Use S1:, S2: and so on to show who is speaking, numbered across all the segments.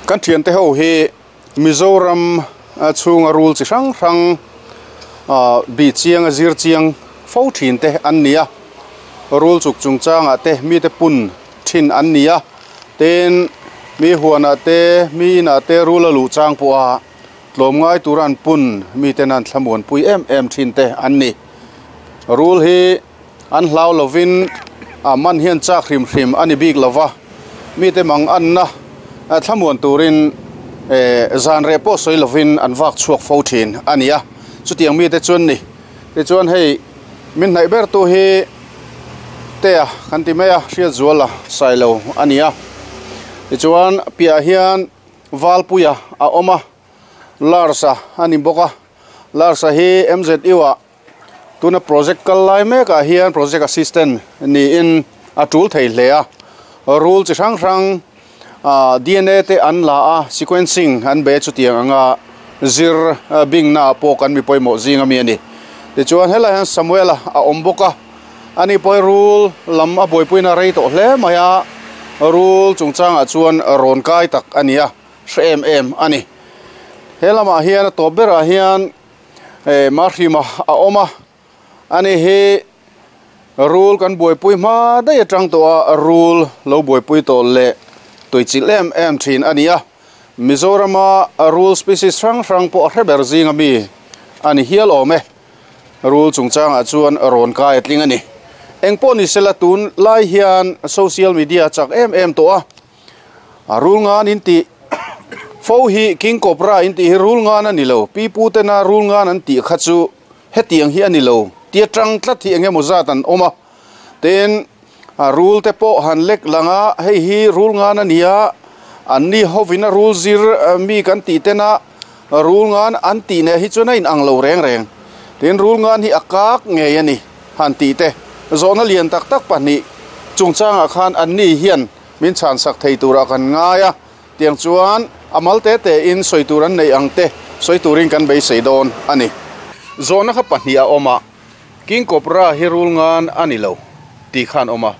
S1: Kan thiante ho hi Mizoram chhunga rul chi hrang hrang bih chiang a zir chiang fo thin te an ni a, rul chuk chungchangah te mite pun thin an ni a, tin mi huanah te mi inah te rul a luh chang pawh a tlawmngai tura an pun miten an thlamuanpui em em thin te an ni. Rul hi an hlau lovin a man hian chak hrim hrim a ni bik lova, mite mang anna thlamuan turin zan reh pawh sawi lovin an vak chhuak fo thin a ni a, chutiang mite chuan ni. Tichuan hei min hnaih ber tu hi Tea kan ti mai a, Hriatzuala Sailo a ni a. Tichuan piah hian Valpuia a awm a, Lars-a a ni bawk a, Lars-a hi MZU-ah Tuna project kal lai mekah hian project assistant niin a tul thei hle a, rule chi hrang hrang ah dna te an la a, sequencing an be chutiang anga zir bingna ah pawh kan mi pawimawh zing ami a ni. Tichuan helai hian Samuel-a a awm bawk a, ani pawh hi rule lam a buaipuina rei tawh hle mai a, rule chungchangah chuan rawn kai tak a ni a, hre em em a ni. He lamah hian a tawp berah hian Mahrima a awm a, ani hi rul kan buaipui hma daih atang tawh a rul lo buaipui tawh leh tuichilh em em thin a ni a, Mizorama rul species hrang hrang pawh a hre ber zinga mi a ni hial awm e, rul chungchangah chuan rawn kai a tling a ni. Engpawh ni sela tun lai hian social media chak em em tawh a. A rul ngan in tih fo hi King Cobra in tih hi rul ngan a ni lo. Pi pu tena rul ngan an tih kha chu hetiang hi a ni lo. Tia tang tlat hi eng emaw zat an awm a. Tin, a rul te pawh han lek lang a, hei hi rul ngan a ni a, an ni hovin a rul zir mi kan tih tena rul ngan an tih neh hi chuan a inang lo reng reng. Tin, rul ngan hi a kak ngei a ni han tih te. Zawhna lian tak tak pahnih chungchangah khan an ni hian Min chhan sak thei turah kan ngai a, tiang chuan a mal te te in sawi tur an neih ang te sawi turin kan beisei dawn a ni. Zawhna kha pahnih a awm a, King Cobra hi rul ngan a ni lo tih khan awm a,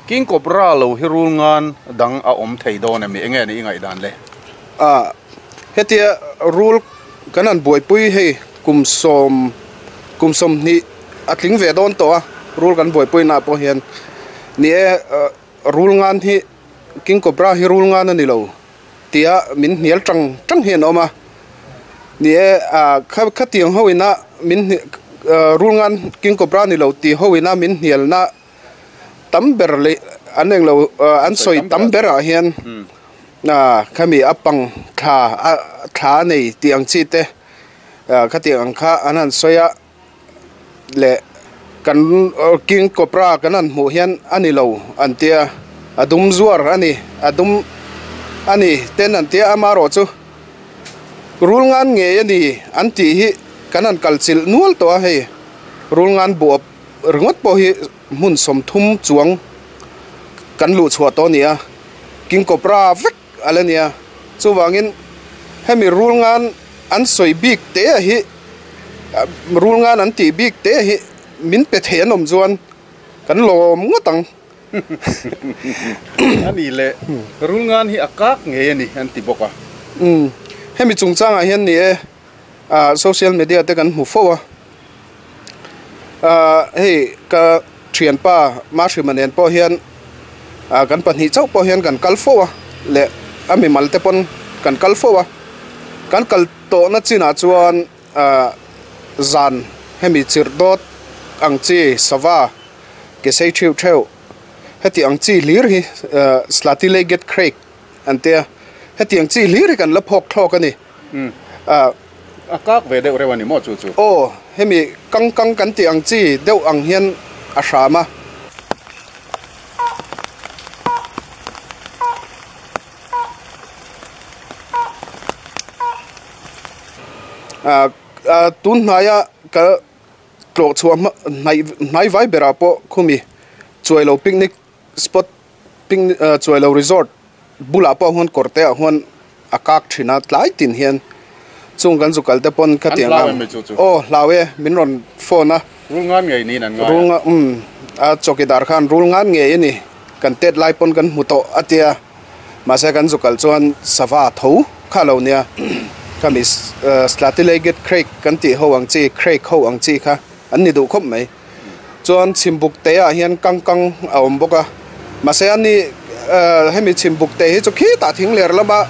S1: King Cobra lo hi rul ngan dang a awm thei dawn em ni? Enge ni i ngaihdan le?
S2: A, hetia rul kan han buaipui hei kum sawm kum sawmhnih a tling ve dawn tawh a, rul kan buaipuinaah pawh hian ni e. Rul ngan hi King Cobra hi rul ngan a ni lo tia min hnial tang tang hi an awm a, ni e ah kha khatiang ho ina min rul ngan King Cobra ni lo tih ho ina min hnialna tam ber leh an eng lo an sawi tam ber ah hian ah khami a pang thla a thla a nei tih ang chi te ah khatiang ang kha an han sawi a. leh kan king cobra kan han hmuh hian a ni lo an tia a dum zuar a ni a dum a ni ten an tia amaherawh chu rul ngan ngei a ni an tih hi kan han kal chilh nual tawh a hei rul ngan buap ringawt pawh hi hmun sawmthum chuang kan luh chhuah tawh a ni a king cobra vek a la nia chuvangin hemi rul ngan an sawi bik te a hi rul ngan an tih bik te hi min pe thei an awm chuan kan lawm ngawt ang.
S1: A ni le, rul ngan hi a kak ngei a ni an ti bawk a.
S2: Umm hemi chungchangah hian ni e ah social media te kan hmu fo a, ah hei ka thianpa Mahrima nen pawh hian ah kan pahnih chauh pawh hian kan kal fo a leh a mimal te pawn kan kal fo a kan kal tawhna chinah chuan ah zan hemi chirh dawt ang chi sava ke sei theuh theuh heti ang chi hlir hi ah Slati Legged Crake an tia hetiang chi hlir hi kan la phawk thlawk a ni ah
S1: A kak ve deuh reuh a ni maw chu chu?
S2: Aw, hemi kang kang kan tih ang chi deuh ang hian a hram a. Ah, tun hnaia ka tlawh chhuah hma hnaih hnai vai berah pawh khumi Chuailo picnic spot picnic Chuailo resort bulah pawh huan kawr te ah huan a kak thin a tlai tin hian chung kan zu kal te pawn ka tiang ang aw hlau e min rawn phone a
S1: rul ngan ngei niin an ngai
S2: a rul um a chawkidar khan rul ngan ngei a ni kan tet lai pawn kan hmu tawh a tia Mahse kan zu kal chuan sava tho kha lo nia khami Slatty-legged Crake kan tih ho ang chi Crake ho ang chi kha an ni duh khawp mai. Chuan chhimbuk te ah hian kang kang a awm bawk a mahse a ni hemi chhimbuk te hi chu khitah thing ler lama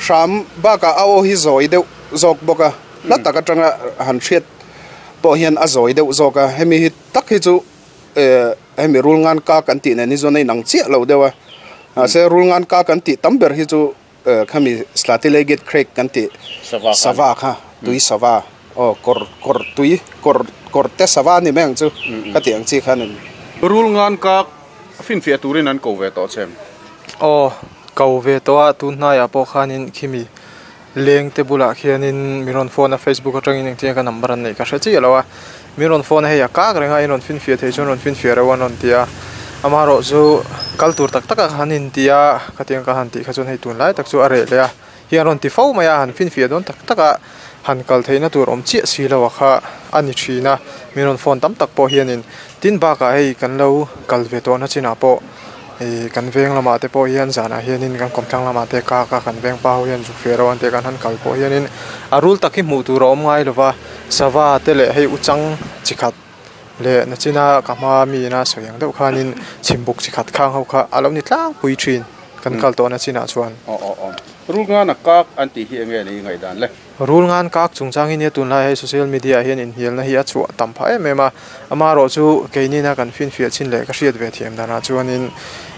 S2: hram bakah a aw hi zawi deuh zawk bawk a hla tak atanga han hriat pawh hian a zawi deuh zawk a hemi hi tak hi chu hemi rul ngan kak an tih nen hi chuan a inang chiah lo deuh a mahse rul ngan kak an tih tam ber hi chu Khami Slatty-legged Crake kan tih sava kha tui sava aw kawr kawr tui kawr kawr te sava a ni mai ang chu ka tih ang chi khan a ni.
S1: Rul ngan kak finfiah turin an ko ve tawh che em?
S3: Aw ko ve tawh a tun hnaiah pawh khanin khimi leng te bulah khianin mi rawn phone a Facebook atangin engtin nge ka number an neih ka hre chiah lo a Mi rawn phone a hei a kak reng a in rawn finfiah thei chuan rawn finfiah reuh a an rawn ti a amaherawh chu kal tur tak tak a han inti a khatiang ka han tih kha chuan hei tunlai tak chu a reh leh a hi an rawn ti fo mai a han finfiah dawn tak tak a han kal theihna tur awm chiah si lo a kha a ni thin a mi rawn phone tam tak pawh hianin tin bakah hei kan lo kal ve tawhna chinah pawh ih kan veng lamah te pawh hian zanah hianin kan kawmthlang lamah te kak a kan veng pa ho hian zuk feh reuh an tih kan han kal pawh hianin a rul tak hi hmuh tur a awm ngai lo va. Sava te leh hei uchang chi khat leh nachina ka hma mi ina sawi ang deuh khanin chhimbuk chi khat khang ho kha a lo ni tlangpui thin kan kal tawhna chinah chuan.
S1: Aw aw aw. Rul ngan a kak an tih hi enge ni ngaihdan le?
S3: Rul ngan kak chungchang hi nia tunlai hei social media ah hian inhnialna hi a chhuah tam phah em em a. Amaherawh chu keinina kan finfiah chin leh ka hriat ve thiam danah chuanin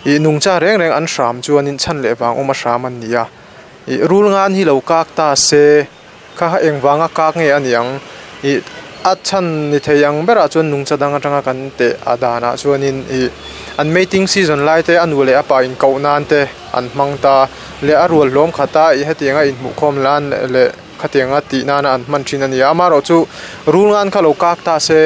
S3: ih nungcha reng reng an hram chuanin chhan leh vang awm a hram an ni a. Ih rul ngan hi lo kak ta se. Kha kha engvanga kak nge a ni ang? Ih a chhan ni thei ang berah chuan nungcha dang atanga kan teh a danah chuanin ih an mating season lai te a nu leh a pa inkoh nan te an hmang ta leh a rual hlawm khat a ih hetianga inhmuhkhawm lan leh khatianga tih nana an hman thin a ni a. Amaherawh chu rul ngan kha lo kak ta se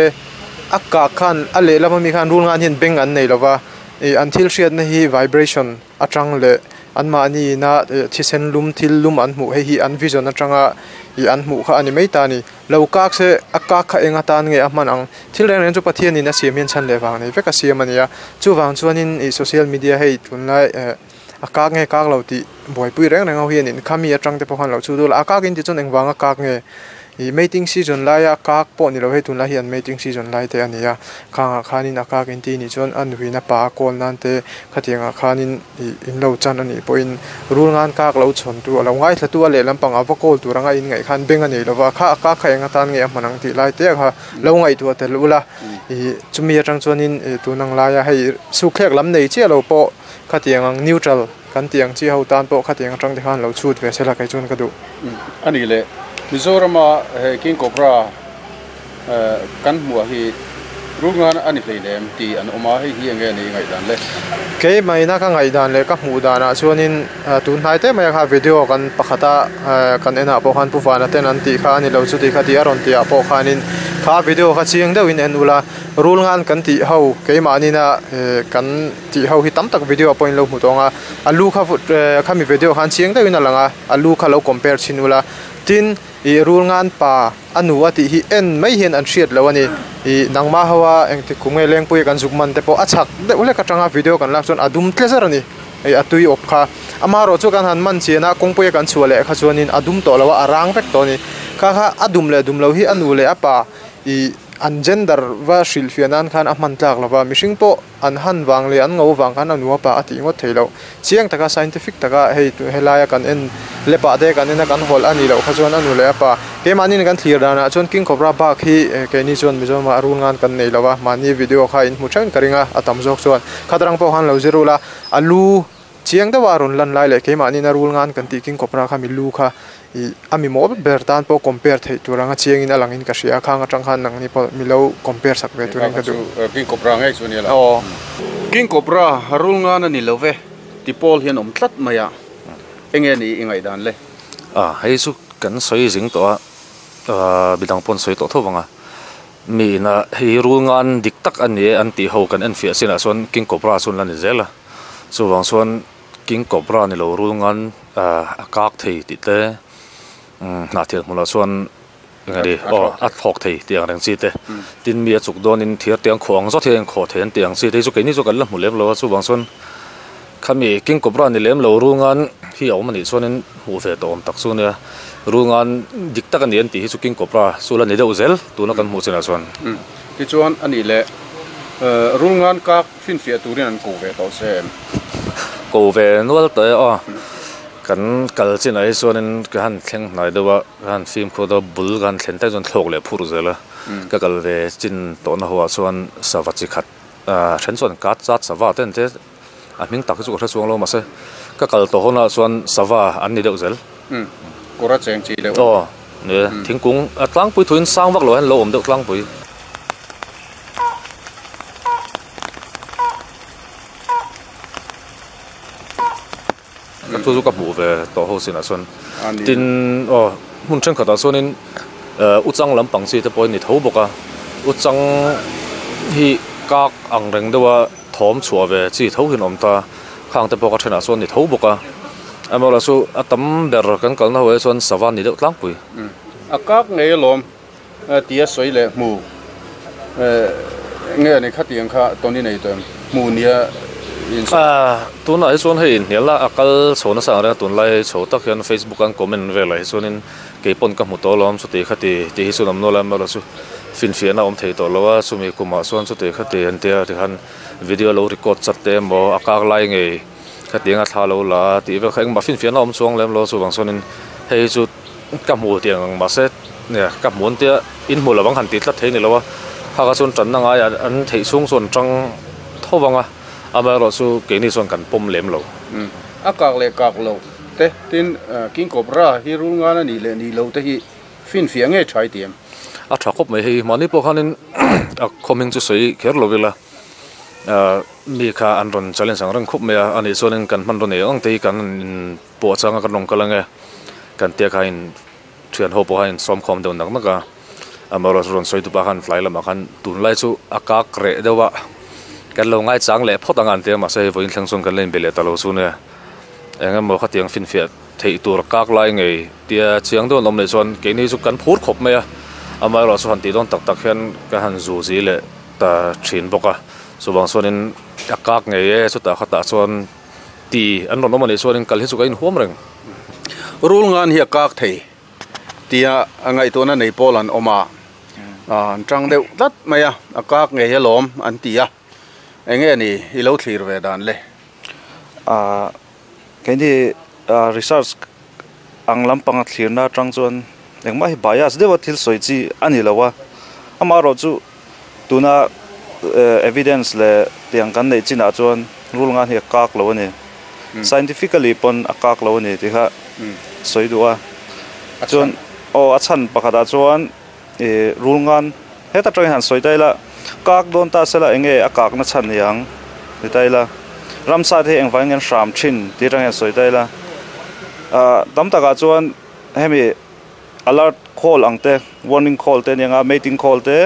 S3: a kak khan a lehlam ami khan rul ngan hian beng an nei lova ih an thil hriatna hi vibration atang leh anmahni ina thisen lum thil lum an hmuh hei hi an vision atanga ih an hmuh kha a ni mai ta a ni. Lo kak se a kak kha eng atan nge a hman ang? Thil reng reng chu Pathianin a siam hian chhan leh vang nei vek a siam a ni a. Chuvang chuanin ih social media hei tunlai eh a kak nge kak lo tih buaipui reng reng ho hianin khami atang te pawh khan lo chhu dul a, a kak in tih chuan engvanga kak nge? Ih mating season laia kak pawh ni lo hei tunlai hi an mating season lai te a ni a khangah khanin a kak inti nih chuan a nuin a pa a kawl nan te khatiangah khanin ih in lo chan a nih pawhin rul ngan kak lo chhawn tu a lo ngaithla tu a lehlam pangah va kawl tur anga in ngaih khan beng a nei lo va kha a kak kha eng atan nge a hman ang tih lai te kha lo ngaihtuah tel ula ih chumi atang chuanin ih tun ang laia hei sukthlek lam nei chiah lo pawh khatiang ang neutral Kan tih ang chi ho tan pawh khatiang atang te khan lo chhut ve sela kei chuan ka duh.
S1: A ni le, Mizorama he King Cobra kan hmuh hi rulngan a ni hleinem tih an awm a, hei hi enge ni i ngaihdan le?
S3: Keimahina ka ngaihdan leh ka hmuh danah chuanin tun hnai te mai kha video kan pakhata kan enah pawh khan Pu Vana ten an tih kha a ni lo chuti kha tih a rawn tih ah pawh khanin kha video kha chiang deuhin en ula rulngan kan tih ho keimahnin a kan Tih ho hi tam tak video ah pawh in lo hmu tawng a, a lu kha khami video khan chiang deuhin a lang a, a lu kha lo compare chhin ula, tin ih rul ngan pa a nu a tih hi en mai hian an hriat lo a ni, ih nangmah ho a engtik kum nge lengpui a kan zuk man te pawh a chhak deuh hlek atanga video kan lak chuan a dum tle zar a ni, ih a tui awp kha, amaherawh chu kan han man chian a kawngpui a kan chhuah leh kha chuanin a dum tawh lo a, a rang vek tawh a ni, kha kha a dum leh dum lo hi a nu leh a pa ih an gender va hrilhfiah nan khan a hman tlak lo va, mihring pawh. An han vang leh an ngo vang khan a nu a pa a tih ngawt thei loh. Chiang taka scientific taka hei helaia kan en lepah te kan en a kan hawlh a nih loh kha chuan a nu leh a pa. Keimahni kan thlir danah chuan King Cobra bak hi keini chuan Mizoramah a rul ngan kan nei lo a, mahni video kha in hmu theuhin ka ring a, a tam zawk chuan khatrang pawh khan lo zir ula a lu Chiang deuha a rawn lan lai leh keimahni na rul ngan kan tih king cobra kha mi lu kha ih a mi mawl ber tan pawh compare theih tur anga chiangin a langin ka hria a, khang atang khan nangni pawh mi lo compare sak ve turin ka duh.
S1: King cobra ngei chu a nia lo. King cobra rul ngan a ni lo ve ti pawl hian awm tlat mai a, enge ni i ngaihdan le?
S4: A, hei chu kan sawi zing tawh a, midang pawh an sawi tawh tho vang a, mi ina hei rul ngan dik tak a ni e an tih ho kan enfiah chinah chuan king cobra chu an la ni zel a. Chuvang chuan King Cobra ni lo rul ngan a kak thei tih te hnahthel hmunah chuan eng nge aw a thlawk thei tih ang reng chi te tin mi a chuk dawnin thir te an khawh ang zawt hian a inkhawh thei an tih ang chi te hi chu keini chu kan la hmu lem lo a chuvang chuan Khami King Cobra ni lem lo rungan hi a awm anih chuanin hmuh ve tawh awm tak chu nia. Rungan dik tak a ni an tih hi chu King Cobra chu la ni deuh zel tuna kan hmuh chinah chuan.
S1: Tichuan a nih leh Rulngan kak finfiah turin an ko ve tawh che em?
S4: Ko ve nual tawh e aw. Kan kal chinah hi chuanin ka han thleng hnai deuh a, ka han fimkhur deuh a, bul ka han thlen tak chuan thlawk leh phur zel a. Ka kal ve chin tawhna ho ah chuan sava chi khat then chuan kat chat sava te an ti a. A hming tak hi chu ka hre chuang lo mahse ka kal tawh hunah chuan sava an ni deuh zel.
S1: Umm kawr a cheng chi deuh.
S4: Aw ni e thingkung a tlangpui thuin sang vak lo hian lo awm deuh tlangpui. Ka chu chu ka hmuh ve tawh ho sinah chuan tin aw hmun thenkhatah chuanin uchang lampang chi te pawh a ni tho bawk a uchang hi kak ang reng deuh a thawm chhuah ve chi tho hian a awm ta khang te pawh ka thenah chuan a ni tho bawk a amaherawhchu chu a tam ber kan kalna ho ah chuan sava a ni deuh tlangpui.
S1: A kak ngei alawm tia sawi leh hmu nge ni khatiang kha Tony nei tawh em hmu nia in sawi.
S4: Tunah hi chuan hei inhnialna a kal chho nasa ang reng a tunlai chho tak hian Facebook an comment velah hi chuanin kei pawn ka hmu tawh alawm chuti khati tih hi chu an awm nual a amaherawhchu chu finfiahna a awm thei tawh lo a chumi kumah chuan chuti khati an tia tikhan video lo record chat te emaw a kak lai ngei khatiang a thla lo la a tih vel kha engmah finfiahna a awm chuang lem lo chuvang chuanin hei hi chu ka hmu tih ang mahse nia ka hmu an tia in hmu lovang han tih tlat thei a ni lo a kha kha chuan tanna ngai an theih chhung chuan an tang tho vang a amaherawh chu keini chuan kan pawm lem lo.
S1: A kak leh kak loh te tin King Cobra hi rul ngan a nih leh nih loh te hi finfiah ngei tha i ti em?
S4: A tha khawp mai hei mahni pawh khanin a khawming chu sawi kher lo ila. Mi kha an rawn challenge ang reng khawp mai a anih chuanin kan hmanraw nei ang te hi kan in pawh changa kan rawn kal ange kan tia kha in thian ho pawh kha in sawm khawm deuh nak nak a amaherawhchu rawn sawi tupa khan tlai lamah khan tunlai chu a kak reh deuh a kan lo ngaichang leh phawt ang a an ti a mahse hei vawiin thleng chuan kan la inbe leh ta lo chu nia eng emaw khatiang finfiah theih tur kak lai ngei tia chiang deuh an awm leh chuan keini chu kan phur khawp mai a amaherawhchu han tih dawn tak tak hian ka han zu zi leh. Ta thin bawk a chuvang chuanin a kak ngei e chutah khatah chuan ti an rawn awm a nih chuanin kal hi chu ka inhuam reng.
S1: Rul ngan hi a kak thei tia a ngaihtuahna nei pawl an awm a, an tang deuh tlat mai a, a kak ngei alawm an ti a, enge ni i lo thlir ve dan le?
S5: Ahh keini research ang lampanga thlirna atang chuan engmah hi bias deuha thil sawi chi a ni lo a, amaherawhchu Tuna evidence leh tiang kan neih chinah chuan rul ngan hi a kak lo a ni. Scientifically pawn a kak lo a ni tih kha sawi duh a. Chuan aw a chhan pakhatah chuan ih rul ngan heta tangin han sawi ta ila kak dawn ta sela eng nge a kakna chhan ni ang ti ta ila ramsa te hi engvangin nge an hram thin tih atangin han sawi ta ila ah tam takah chuan hemi. Alert call ang te, warning call te a nia nga, mating call te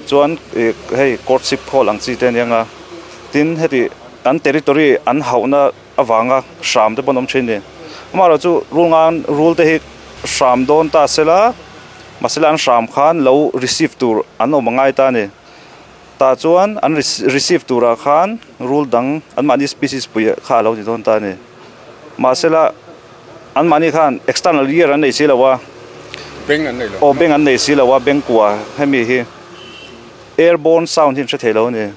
S5: chuan ih hei courtship call ang chi te a nia nga. Tin heti an territory an hauhna avanga hram te pawh an awm thin a ni. Amaherawhchu rul ngan rul te hi hram dawn ta sela mahse an hram khan lo receive tur an awm a ngai ta a ni. Tah chuan an receive turah khan rul dang anmahni species pui kha a lo ni dawn ta a ni. Mahsela anmahni khan external ear an nei si lo a,
S1: Beng an nei lo.
S5: Aw beng an nei si lo a, beng kua hemi hi airborne sound hi an hre thei lo a ni.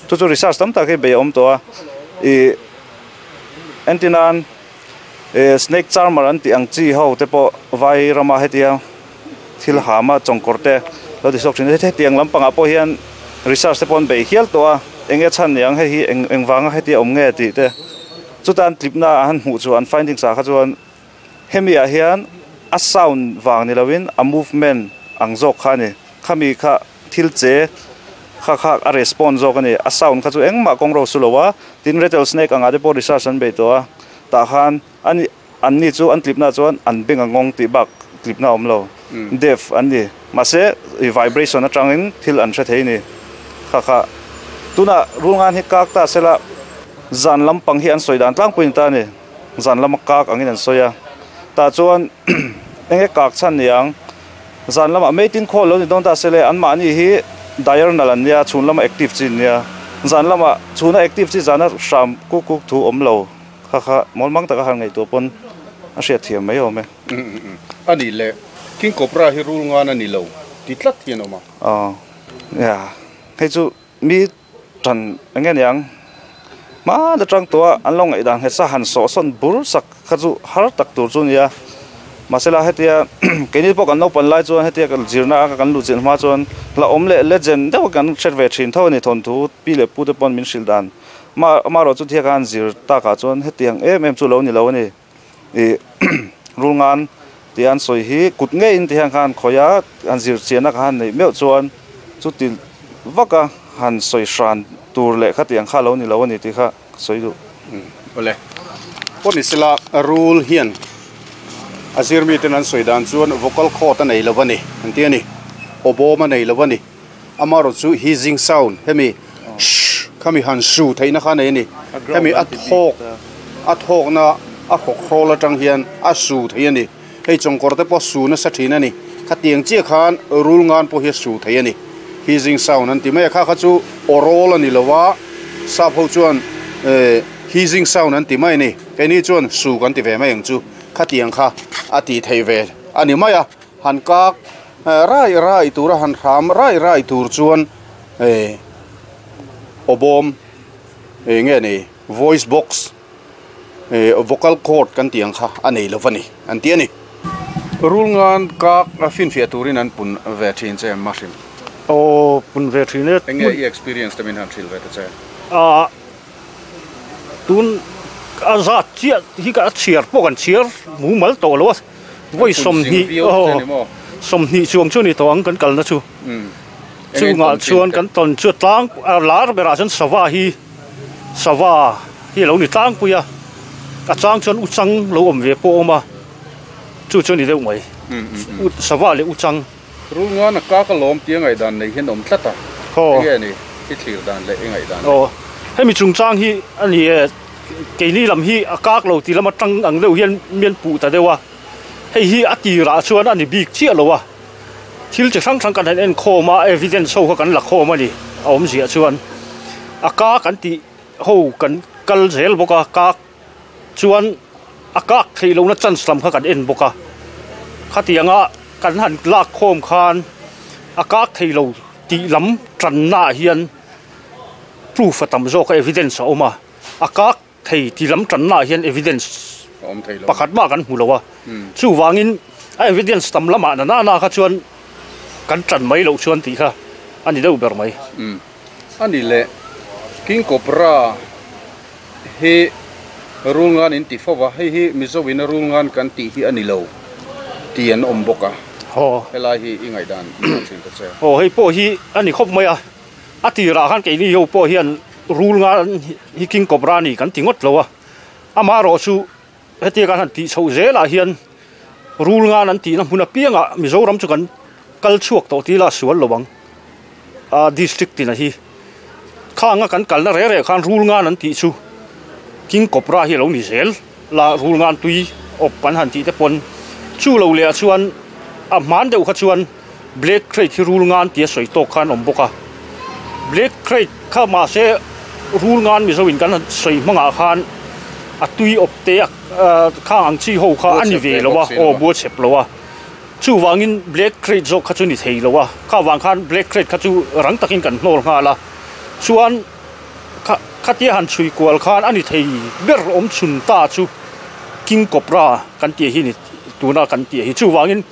S5: Chu chu research tam tak hi bei a awm tawh a, ih entirnan snake charmer an tih ang chi ho te pawh vai rama hetia thil hama chawngkawr te lo ti chhuak thin a hetiang lampangah pawh hian research te pawh an beih hial tawh a eng nge chhan niang hei hi eng eng vanga hetia awm nge tih te chuta an tlipna ah han hmuh chu an findings ah kha chuan hemi ah hian a sound vang ni lovin a movement ang zawk kha a ni khami kha thil che kha kha a respond zawk a ni a sound kha chu engmah kawng ro su lo a tin rattle snake angah te pawh research an beih tawh a tah khan ani An ni chu an tlipna chuan an beng a ngawng tih bak tlipna a awm lo. Deaf an ni. Mahse i vibration atangin thil an hre thei ni. Kha kha. Tunah rulngan hi kak ta sela zan lampang hi an sawi dan tlangpui ni ta a ni. Zan lama kak angin an sawi a. Tah chuan enge kak chhan ni ang. Zan lamah meitin khawl lo ni dawn ta sele anmahni hi diurnal an nia, chhun lama active chi an nia. Zan lamah chhuna active chi zana hram kuk kuk thu awm lo kha kha mawl mang taka han ngaihtuah pawn a hriat thiam mai awm e.
S1: A nih leh King Cobra hi rul ngan a ni lo ti tlat hi an awm a.
S5: Aw nia hei chu mi tan eng nge niang hma atang tawh a an lo ngaihdan nghet sa han sawhsawn bur sak kha chu har tak tur chu a ni a mahsela hetia keini pawh kan naupan lai chuan hetia kan zirna a kan luh chilh hma chuan hlauhawm leh legend deuh kan hret ve thin tho a ni thawnthu pi leh pu te pawn min hrilh dan amaherawh chu thia khan zir takah chuan hetiang em em chu lo ni lo a ni. Ih rulngan tih an sawi hi kut ngeiin ti hian khan khawi a han zir chiahna kha han neih meuh chuan chuti vaka han sawi hran tur leh khatiang kha lo ni lo a ni tih kha ka sawi duh.
S1: Awle pawh ni sela rul hian a zir miten an sawi dan chuan vocal cord a nei lo a ni an ti a ni aw bawm a nei lo a ni amaherawh chu hissing sound hemi shh khami han su theihna kha a nei a ni hemi a thawk a thawkna a hrawk hrawl atang hian a su thei a ni hei chawngkawr te pawh su nasa thin a ni khatiang chiah khan rul ngan pawh hi a su thei a ni hissing sound an ti mai a kha kha chu aw rawl a ni lo a sap ho chuan eh hissing sound an ti mai a ni keini chuan su kan ti ve mai ang chu khatiang kha a tih theih ve a ni mai a. Han kak rai rai tura han hram rai rai tur chuan eh aw bawm eng nge ni voice box eh vocal cord kan tih ang kha a nei lo va ni an ti a ni. Rul ngan kak a finfiah turin an pun ve thin che em mahrim?
S6: Aw pun ve thin e.
S1: Eng nge i experience te min han hrilh ve ta che?
S6: Ah tun a zat chiah hi ka chhiar pawh kan chhiar mumal tawh lo a. Vawi 20 aw 20 chuang chu a ni tawh ang kan kalna chu. Chungah chuan kan tawn chu tlang a lar berah chuan sava hi sava hi a lo ni tlangpui a, a chang chuan uchang lo awm ve pawh a awm a, chu chu a ni deuh mai sava leh uchang.
S1: Rul ngan a kak alawm tia ngaihdan nei hian awm tlat a, enge ni i thlir dan leh i ngaihdan
S6: le? Aw, hemi chungchang hi a ni e, keini lam hi a kak lo ti lama tang ang deuh hian mian puh ta deuh a, hei hi a tirah chuan a ni bik chiah lo a, thil chi hrang hrang kan han en khawm a, evidence ho kha kan la khawm a ni, a awmziah chuan a kak an tih ho kan kal zel bawk a, kak. Chuan a kak theih lohna chance lam kha kan en bawk a, khatianga kan han lak khawm khan a kak thei lo tih lam tanna ah hian proof a tam zawk a, evidence a awm a, a kak thei tih lam tanna ah hian evidence pakhat mah kan hmu lo a, chuvangin a evidence tam lamah na na na kha chuan kan tan mai loh chuan tih kha a ni deuh ber mai.
S1: A ni leh King Cobra hi rulngan in ti fo va, hei hi Mizo ina rulngan kan tih hi a ni lo tih an awm bawk a, helai hi i ngaihdan i thin ta che.
S6: Aw hei pawh hi a ni khawp mai a, a tirah khan keini ho pawh hian rulngan hi King Cobra a ni kan ti ngawt lo a, amaherawh chu Hetia kan han tih chhoh zelah hian rulngan an tihna hmun apiangah Mizoram chu kan kal chhuak tawh tih lah sual lo ang a district tina hi khanga kan kalna reh reh khan rulngan an tih chu King Cobra hi a lo ni zel la rulngan tui awp an han tih te pawn chu lo leh ah chuan a hman deuh kha chuan Black Krait hi rulngan tia sawi tawk khan awm bawk a Black Krait kha mahse rulngan Mizo in kan han sawi hmangah khan a tui awp te a khang ang chi ho kha a ni ve lo a aw bua chep lo a chuvangin Black Krait zawk kha chu ni thei lo a kha vang khan Black Krait kha chu rang takin kan hnawl nghal a chuan kha khatia han chhui kual khan a ni thei ber awm chhun ta chu King Cobra kan tih hi ni tuna kan tih hi chuvangin.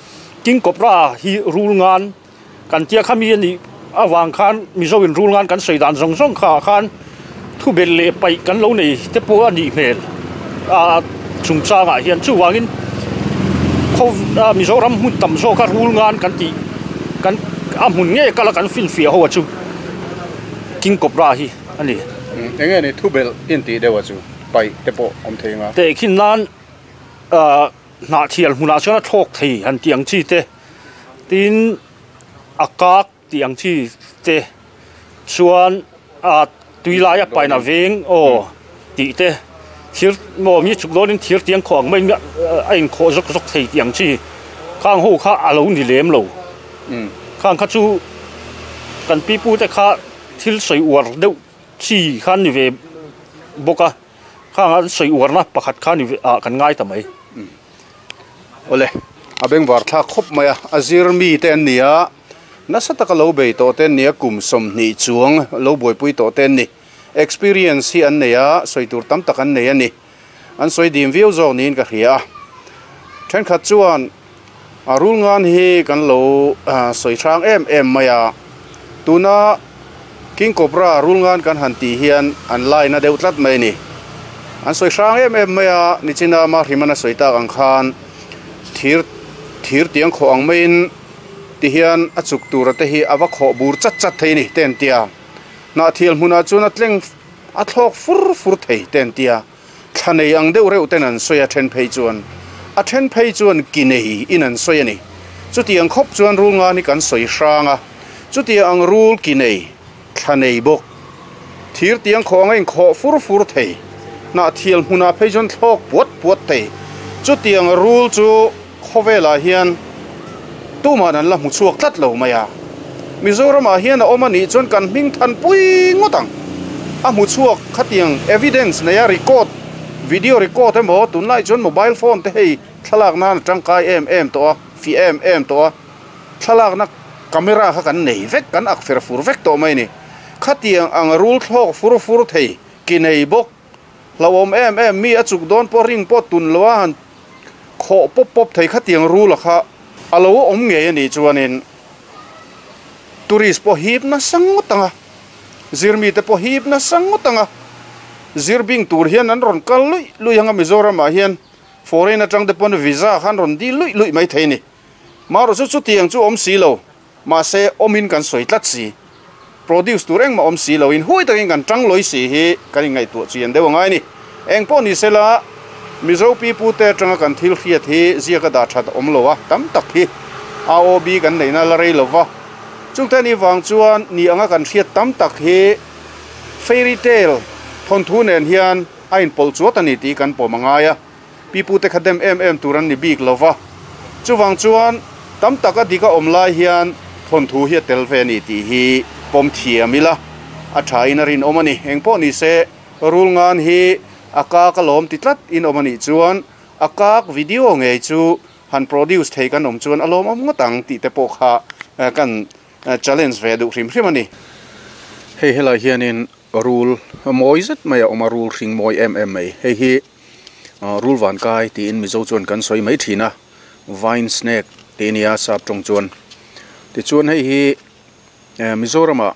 S6: King Cobra hi rul ngan kan tia kha mi a nih avang khan Mizo in rul ngan kan sawi dan zawng zawng kha ah khan thu belh leh paih kan lo nei te pawh a nih hmel a chungchang ah hian chuvangin khaw Mizoram hmun tam zawk a rul ngan kan tih kan a hmun ngei kal a kan finfiah ho a chu King Cobra hi a ni.
S1: Eng nge ni thu belh intih deuh a chu paih te pawh awm thei anga.
S6: Tehkhin nan ah. Hnahthial hmunah chuan a thlawk thei han tih ang chi te, tin a kak tih ang chi te chuan a tui laia pain a veng aw tih te thir maw mi chuk dawnin thir tiang khawh ang mai a inkhawh zawk zawk thei tih ang chi khang ho kha a lo ni lem lo khang kha chu kan pipu te kha thil sawi uar deuh. Chi kha an ni ve bawk a, khang an sawi uarna pakhat kha ni ve ah kan ngai ta mai.
S1: Awle, a bengvar thlak khawp mai a, a zir mi te an ni a, nasa taka lo bei tawh te an ni a, kum 20 chuang lo buaipui tawh te an ni. Experience hi an nei a, sawi tur tam tak an nei a ni. An sawi dim viau zawk niin ka hria a. Thenkhat chuan a rul ngan hi kan lo sawi hrang em em mai a, tuna King Cobra rul ngan kan han tih hian an line a deuh tlat mai a ni. An sawi hrang em em mai a, nichina Mahrimana sawi tak ang khan thir thir tiang khawh ang maiin tihian a chuk tura te hi a va khawh bur chat chat thei a ni te an ti a. Hnahthial hmunah chuan a tleng a thlawk fur fur thei te an ti a, thla nei ang deuh reuh ten an sawi a then phei chuan a then phei chuan ki nei in an sawi a ni. Chutiang khawp chuan rul ngan hi kan sawi hrang a, chutiang ang rul ki nei, thla nei bawk, thir tiang khawh anga inkhawh fur fur thei, hnahthial hmunah phei chuan thlawk puat puat thei, chutiang rul chu khawvelah hian tuman an la hmu chhuak tlat lo mai a. Mizoramah hian a awm a nih chuan kan hming than pui ngawt ang. A hmu chhuak khatiang evidence neia record, video record emaw tunlai chuan mobile phone te hei thlalak nan a tangkai em em tawh a, fih em em tawh a. Thlalakna camera kha kan nei vek, kan ak fer fur vek tawh mai a ni. Khatiang ang rul thlawk fur fur thei ki nei bawk. Hlauhawm em em mi a chuk dawn pawh ring pawh tun lo a han khawh pawp pawp thei khatiang rul a kha a lo awm ngei a nih chuanin tourist pawh hip nasa ngawt ang a, zirmi te pawh hip nasa ngawt ang a, zirbing tur hian an rawn kal luih luih ang a Mizoramah hian foreign atang te pawn visa kha an rawn dil luih luih mai thei a ni. Marawh chu chutiang chu awm si lo. Mahse, awmin kan sawi tlat si. Produce tur engmah awm si loin hui takin kan tang lawi si hi kan inngaihtuah chian deuh angai a ni. Eng pawh ni sela, Mizo pipute atanga kan thil hriat hi ziaka dah that a awm lo a, tam tak hi AOB kan neihna la rei lo va. Chungte ni vang chuan ni anga kan hriat tam tak hi fairy tale thawnthu nen hian a inpawlh chuat a ni tih kan pawm angai a. Pipute kha dem em em tur an ni bik lo va, chuvang chuan tam tak a dik a awm lai hian thawnthu hi a tel ve a ni tih hi pawm thiam ila a tha in a rinawm a ni. Engpawh ni se, rul ngan hi a kak a lawm ti tlat in awm a nih chuan a kak video ngei chu han produce thei kan awm chuan a lawmawm ngawt ang tih te pawh kha kan challenge ve duh hrim hrim a ni. Hei helai hianin Rul mawi zet mai a awm a, rul hring mawi em em mai. Hei hi rul vankai tiin Mizo chuan kan sawi mai thin a, vine snake tih a ni a sap tawng chuan. Tichuan hei hi Mizoramah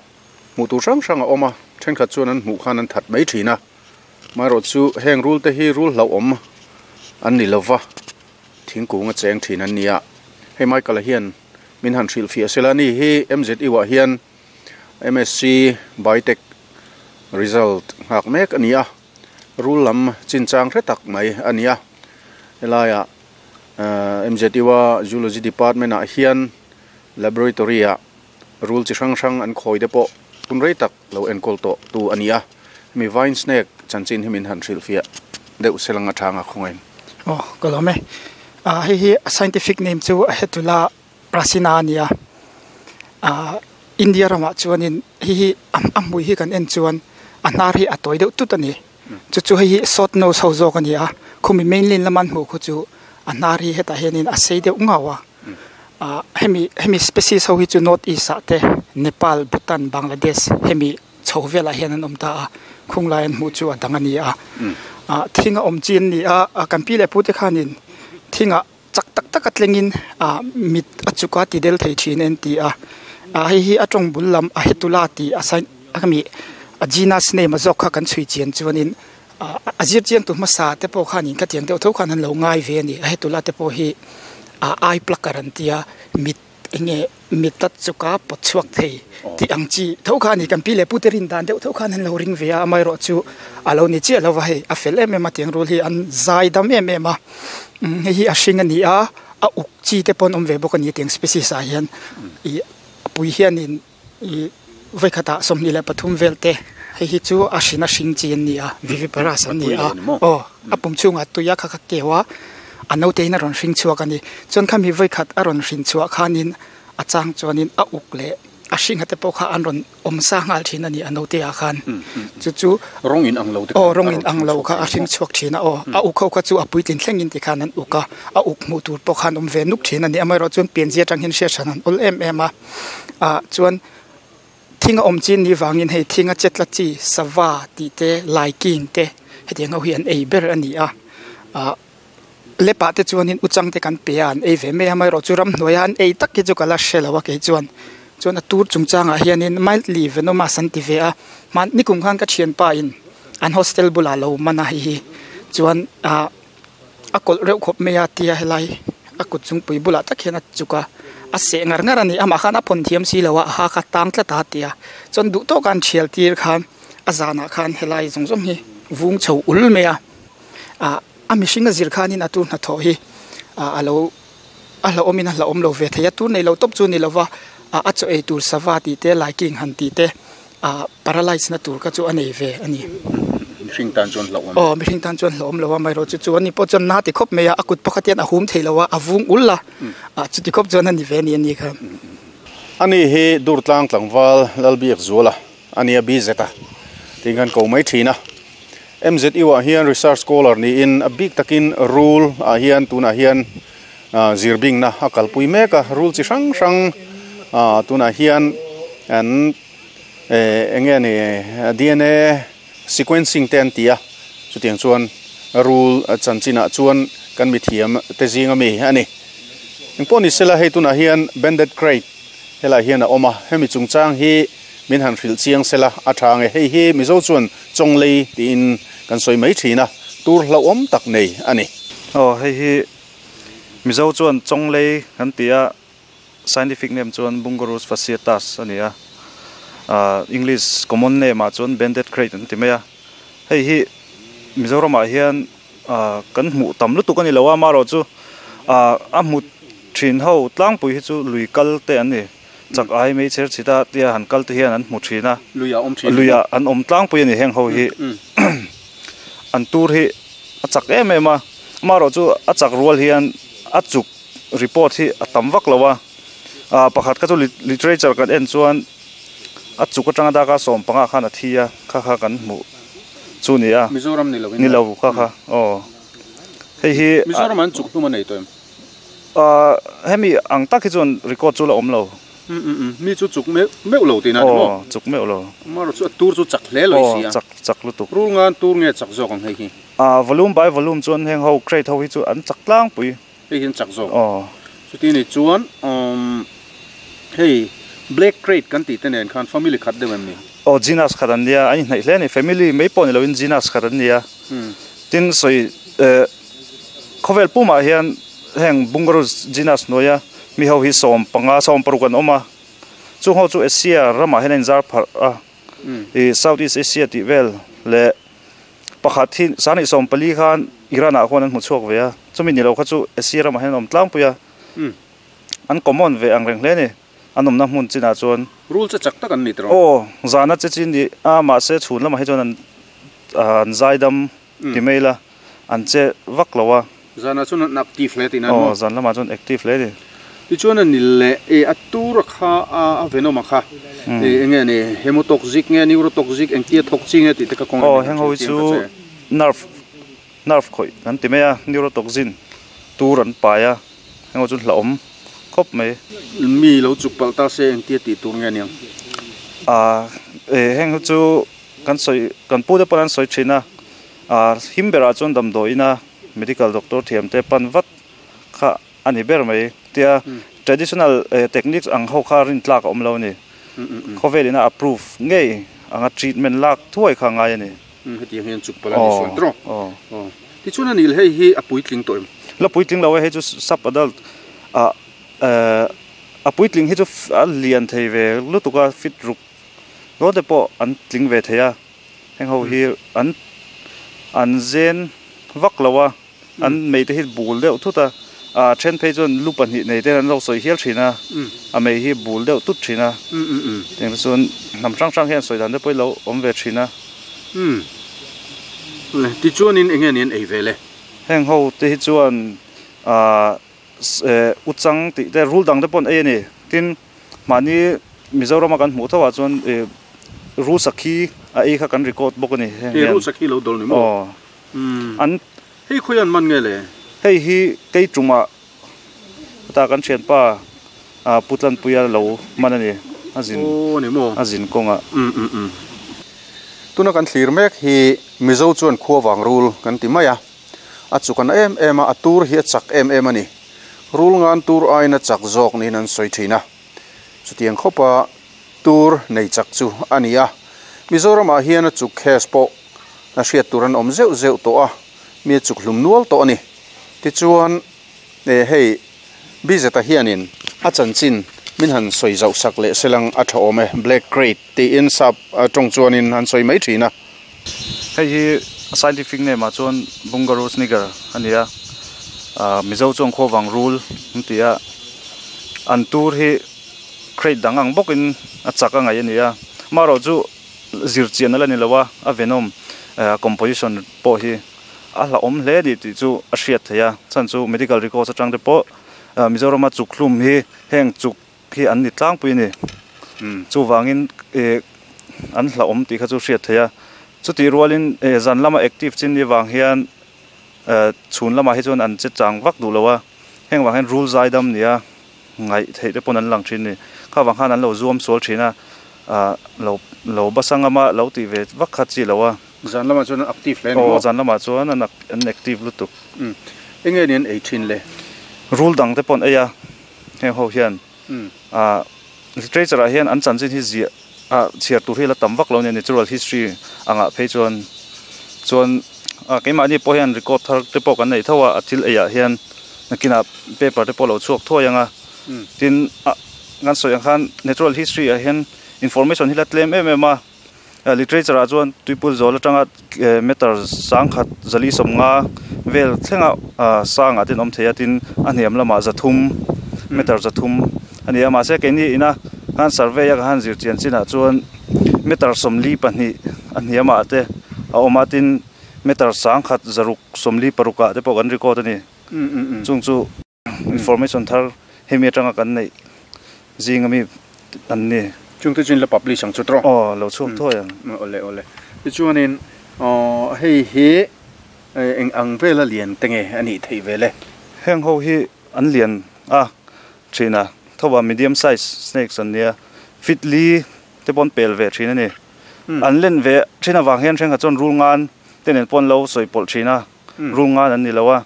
S1: hmuh tur hrang hrang a awm a, thenkhat chuan an hmuh khan an that mai thin a. Amaherawh chu heng rul te hi rul hlauhawm an ni lova, thingkung a cheng thin an ni a. Hei Michael-a hian min han hrilhfiah sela a ni hi MZU ah hian. MSc Biotech result nghak mek a ni a, rul lam chinchang hre tak mai a ni a, helaiah MZU a Zoology Department ah hian laboratory ah rul chi hrang hrang an khawi te pawh hun rei tak lo enkawl tawh tu a ni a, hemi vine snake chanchin hi min han hrilhfiah deuh se lang atang a khawngaih.
S7: Aw ka lawm e, hei hi a scientific name chu a hetula Prasina a ni a, ahh India ramah chuanin hei hi a hmui hi kan en chuan a hnar hi a tawi deuh tut a ni chu chu hei hi short nose ho zawk a ni a khumi mainland lama an hmuh khu chu a hnar hi hetah hianin a sei deuh ngau a ahh hemi hemi species ho hi chu north east ah te Nepal Bhutan Bangladesh hemi chho velah hian an awm ta a khung lai an hmuh chu a dang a ni a ah thing a awm chi an ni a kan pi leh pu te khanin thingah. Chak tak tak a tlengin ah mit a chuk a ti del thei thin en ti a ah hei hi a tawng bul lam a hetula tih a sign a mi a genus name a zawk kha kan chhui chian chuanin ah a zir chiang tu hmasa te pawh khanin khatiang deuh tho khan an lo ngai ve a ni a hetula te pawh hi ah eye plucker an tia mit. Enge mit a chuka pawt chhuak thei tih ang chi tho kha a ni. Kan pi leh pute rin dan deuh tho khan an lo ring ve a, amaherawh chu a lo ni chiah lo va hei a fel em em a tiang rul hi an zai dam em em a, hei hi a hring a ni a, a uk chi te pawh an awm ve bawk a ni tiang species ah hian ih a pui hianin ih vawikhatah 23 vel te hei hi chu a hrin a hring chi an ni a viviparous an ni a aw a pum chhungah tui a kha kha keu a a naute in a rawn hring chhuak a ni chuan khami vawikhat a rawn hrin chhuah khanin a chang chuanin a uk leh A hringa te pawh kha an rawn awm sa nghal thin a ni a naute ah khan chu chu
S1: rawng in ang lo te
S7: aw rawng in ang lo kha a hring chhuak thin a aw a uk ho kha chu a puitlin thleng in tikhan an uk a a uk hmuh tur pawh khan awm ve nuk thin a ni amaherawh chuan pianzia atang hian hriat hran an awl em em a ah chuan thing a awm chin ni vangin hei thing a chetla chi sava tih te laiking te hetiang ho hi an ei ber a ni a ah. Lepah te chuanin uchang te kan pe a, an ei ve mai a, amaherawhchu ramhnuaia an ei tak hi chu ka la hre lo a kei chuan. Chuan a tur chungchangah hianin mildly venomous an ti ve a, hman nikum khan ka thianpa in an hostel bulah lo man a hei hi chuan ah a kawlh reuh khawp mai a tia helai a kut chungpui bulah tak hian a chuk a, a seh ngar ngar a ni, amah khan a phawn thiam si lo a, a ha kha tang tlat a tia chuan duh tawka an thial tir khan a zanah khan helai zawng zawng hi vung chho ul mai a ah. A mihring a zir khanin a tur hnathawh hi ah a lo a hlauhawmin a hlauhawm lo ve thei a, tur nei lo tawp chu ni lova ah a chaw ei tur sava tih te laiking han tih te ah paralyze na tur kha chu a nei ve a ni.
S1: Mihring tan chuan hlauhawm.
S7: Aw mihring tan chuan hlauhawm lo a, amaherawh chu chu ani pawh chuan na ti khawp mai a, a kut pakhat hian a hum thei lo a, a vung ul a, ah chuti khawp chuan a ni ve a ni a ni kha.
S1: Ani hi Durtlang tlangval Lalbiakzuala a nia BZ a tiin kan ko mai thin a. MZU ah hian research scholar niin a bik takin rul ah hian tunah hian zir bingna a kalpui mek a, rul chi hrang hrang tunah hian an eng nge ni dna sequencing te an ti a, chutiang chuan rul chanchinah chuan kan mithiam te zing ami a ni. Engpawh ni sela hei tunah hian banded krait helaiah hian a awm a, hemi chungchang hi Min han hrilh chiang sela a tha nge hei hi Mizo chuan Chawnglei tiin kan sawi mai thin a, tur hlauhawm tak nei a ni.
S5: Aw hei hi Mizo chuan Chawnglei kan ti a, scientific name chuan Bungarus fasciatus a ni a, English common name ah chuan Banded Krait an ti mai a. Hei hi Mizoramah hian kan hmuh tam lutuk a ni lo a, amaherawhchu a hmu thin ho tlangpui hi chu lui kal te an ni. Chak ai mei chher chhita tia han kal te hian an hmu thin a,
S1: Luiah awm thin.
S5: Luiah an awm tlangpui a ni heng ho hi. An tur hi a chak em em a, amaherawh chu a chak rual hian a chuk report hi a tam vak lo a, ah pakhat kha chu literature kan en chuan a chuk atanga daka 15 khan a thi a, kha kha kan hmuh chu ni a.
S1: Mizoram ni lo in.
S5: Ni lo kha kha aw hei hi.
S1: Mizoram an chuk hlum a nei tawh em?
S5: Ahh hemi ang tak hi chuan record chu la awm lo.
S1: Umm umm umm mi chu chuk meuh meuh lo tihna ni maw?
S5: Aw chuk meuh lo.
S1: Amaherawh chu a tur chu chak hle lo i si a.
S5: Aw chak chak lutuk.
S1: Rul ngan tur nge chak zawk ang hei hi?
S5: Ahh volume by volume chuan heng ho crate ho hi chu an chak tlangpui.
S1: Hei hian chak zawk.
S5: Aw.
S1: Chuti ni chuan umm hei black crate kan tih te nen khan family khat deuh em ni?
S5: Aw genus khat an nia, an inhnaih hle a ni. Family mai pawh ni loin genus khat an nia. Tin sawi eh. Khawvel pumah hian heng Bungarus genus hnuaia mi ho hi 15, 16 an awm a, chung ho chu Asia ramah hian a inzar pharh a, ih South East Asia tih vel leh pakhat hi 2014 khan Iran ah khuan an hmu chhuak ve a, chumi ni lo kha chu Asia ramah hian an awm tlangpui a, an common ve ang reng hle a ni, an awmna hmun chinah chuan.
S1: Rul che chak tak an ni tawh.
S5: Aw, zana che chi ni a, mahse chhun lamah hi chuan an an zaidam. Ti mai ila an che vak lo a.
S1: Zanah chuan an active hle tihna maw?
S5: Aw zan lamah chuan active hle a ni.
S1: Tichuan a ni leh e a tur a kha a venom a kha e enge ni hemotoxic nge neurotoxic engtia thawk chi nge tih te kha kawng
S5: Aw heng ho hi chu nerve nerve khawih kan ti mai a neurotoxin tur an pai a heng ho chu hlauhawm khawp mai.
S1: Mi lo chuk palh ta se engtia tih tur nge niang?
S5: A e heng ho chu Kan sawi, kan pute pawn an sawi thin a, ah him berah chuan damdawiina medical doctor thiam te pan vat kha a ni ber mai. Tia traditional techniques ang ho kha rin tlak a awm lo a ni. Khawvel ina approve ngei anga treatment lak thuai kha a ngai a ni.
S1: Hetiang hian chuk palh a ni suan tawh. Aw. Tichuan a nil hei hi a puitling tawh em?
S5: La puitling lo e, hei chu sub adult ah a puitling hi chu a lian thei ve lutuk a fit ruk. Dawn te pawh an tling ve thei a, heng ho hi an an zen vak lo a, an mei te hi bul deuh thut a, ah then phei chuan lu pahnih nei te an lo sawi hial thin a, a mei hi bul deuh tut thin a, tiang te chuan hnam hrang hrang hian sawi dan te pawh hi lo awm ve thin a.
S1: Tichuanin eng nge ni an ei ve le?
S5: Heng ho te hi chuan ah uchang tih te rul dang te pawh an ei a ni, tin mahni. Mizorama kan hmuh tho ah chuan ih rul sakhi a ei kha kan record bawk a ni heng hian.
S1: Rul sakhi lo dawl ni maw?
S5: Aw. An.
S1: Hei khawi an man nge le?
S5: Hei hi kei tumah ta kan thianpa ah Pu Tlanpuia lo man a ni a zin
S1: Aw ni maw?
S5: a zin kawngah.
S1: Um um um. Tuna kan thlir mek hi Mizo chuan khua vang rul kan ti mai a, a chuk a na em em a, a tur hi a chak em em a ni. Rul ngan tur aiin a chak zawk niin an sawi thin a. Chutiang khawpa tur nei chak chu a ni a. Mizoramah hian a chuk case pawh a hriat tur an awm zeuh zeuh tawh a, mi a chuk hlum nual tawh a ni. Tichuan eh hei Bizeta hianin a chanchin min han sawi zauh sak leh selang a tha awm e, Black Crate tiin sap tawng chuanin an sawi mai thin a.
S5: Hei hi scientific name ah chuan Bungarus niger a ni a, Mizo chuan khuavang rul an ti a, an tur hi crate dang ang bawkin a chak a ngaih a ni a, amaherawh chu zir chian a la ni lo a, a venom composition pawh hi a hlauhawm hle a ni tih chu a hriat theih a, chhan chu medical records atang te pawh Mizorama chuk hlum hi heng chuk hi an ni tlangpui a ni. Chuvangin ih an hlauhawm tih kha chu hriat theih a, chutih rualin ih zan lama active chin ni vang hian chhun lamah hi chuan an che chang vak duh lo a, heng vang hian rul zai dam nia ngaih theih te pawn an lang thin a ni. Kha vang khan an lo zuam sual thin a, ah lo lo basangama lo tih ve vak kha chi lo a.
S1: Zan lamah chuan an active hle a ni maw?
S5: Aw, zan lamah chuan an an active lutuk.
S1: Umm, enge ni an ei thin le?
S5: Rul dang te pawh an ei a, heng ho hian. Ah, literature ah hian an chanchin hi ziah ah chhiar tur hi la tam vak lo a nia, natural history angah phei chuan chuan ah keimahni pawh hian record thar te pawh kan nei tho a, a thil ei ah hian nakinah paper te pawh a lo chhuak thuai ang a. Tin, ah kan sawi ang khan natural history ah hian information hi la tlem em em a. Literature ah chuan tuipul zawl atanga meter sangkhat zali sawmnga vel thlenga sangah te an awm thei a tin a hniam lamah zathum meter zathum a ni a mahse keini ina khan survey a ka han zir chian chinah chuan meter sawmli pahnih a hniamah te a awm a tin meter sangkhat zaruk sawmli parukah te pawh kan record a ni chung chu. Information thar hemi atanga kan neih zing ami an ni.
S1: Chungte chu in la publish ang chu tawh.
S5: Aw lo chhuak thuai ang.
S1: Awle awle. Tichuanin aw hei hi eng ang vela lian te nge a nih theih ve le?
S5: Heng ho hi an lian a thin a, thoa medium size snakes an nia, feet li te pawh an pel ve thin a ni. An len ve thin avang hian thenkhat chuan rul ngan te nen pawh an lo sawi pawlh thin a, rul ngan an ni lo a.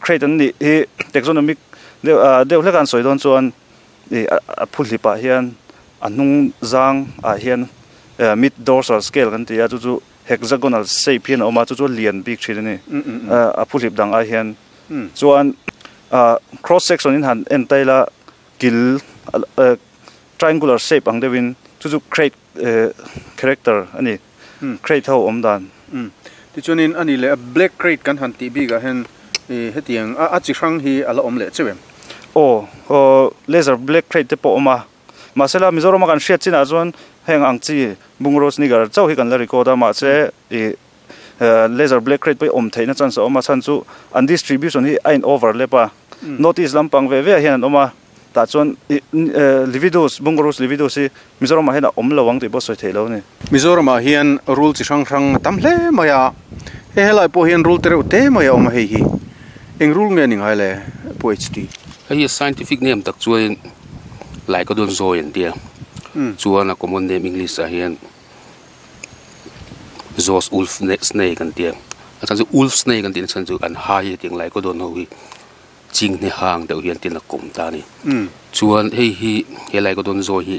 S5: Crate an nih hi taxonomic deuh ah deuh hlek a an sawi dawn chuan ih a phu hlip ah hian a hnung zang ah hian mid dorsal scale kan ti a chu chu hexagonal shape hian a awm a chu chu a lian bik thin a ni a phu hlip dang ai hian chuan ah cross section in han en tail a kil triangular shape ang deuh in chu chu crate character a ni. Crate ho awm dan.
S1: Umm. Tichuanin a ni leh a black crate kan han tih bikah hian ih hetiang a a chi hrang hi a la awm leh cheu em?
S5: Aw, aw laser black crate te pawh a awm a. Mahsela Mizorama kan hriat chinah chuan heng ang chi bungraw sneaker chauh hi kan la record a, mahse ih laser black crate pawh hi awm theihna chance a awm a, chhan chu an distribution hi a in overlap a, north east lampang ve ve ah hian an awm a. Tah chuan Lividus, Bungarus lividus hi Mizoramah hian a awm lo ang tih pawh sawi theih lo a ni.
S1: Mizoramah hian rul chi hrang hrang a tam hle mai a, hei helai pawh hian rul te reuh te mai a awm a hei hi eng rul nge ni ngai le Pu HT?
S8: Hei hi scientific name tak chuan Lycodon zoe an tia, chuan a common name English ah hian Zoe's wolf snake an tia, a chhan chu wolf snake an tih na chhan chu an hai hetiang Lycodon ho hi. Chinghne hang deuh hian tin a kawm ta a ni. Chuan hei hi helai ka dawn zawi hi